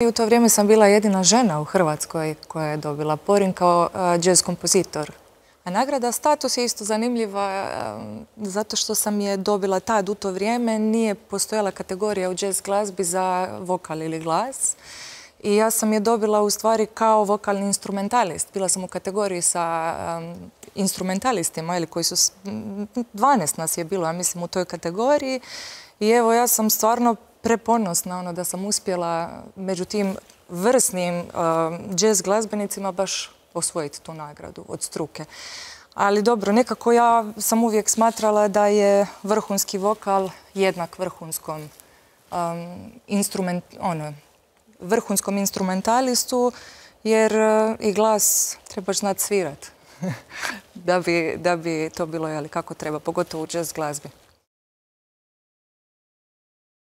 I u to vrijeme sam bila jedina žena u Hrvatskoj koja je dobila Porin kao jazz kompozitor. A nagrada Status je isto zanimljiva zato što sam je dobila tad u to vrijeme. Nije postojala kategorija u jazz glazbi za vokal ili glas. I ja sam je dobila u stvari kao vokalni instrumentalist. Bila sam u kategoriji sa instrumentalistima koji su, 12 nas je bilo, ja mislim, u toj kategoriji. I evo, ja sam stvarno preponosna da sam uspjela među tim vrsnim jazz glazbenicima baš osvojiti tu nagradu od struke. Ali dobro, nekako ja sam uvijek smatrala da je vrhunski vokal jednak vrhunskom instrumentalistu, jer i glas trebaš znati svirat da bi to bilo kako treba, pogotovo u jazz glazbi.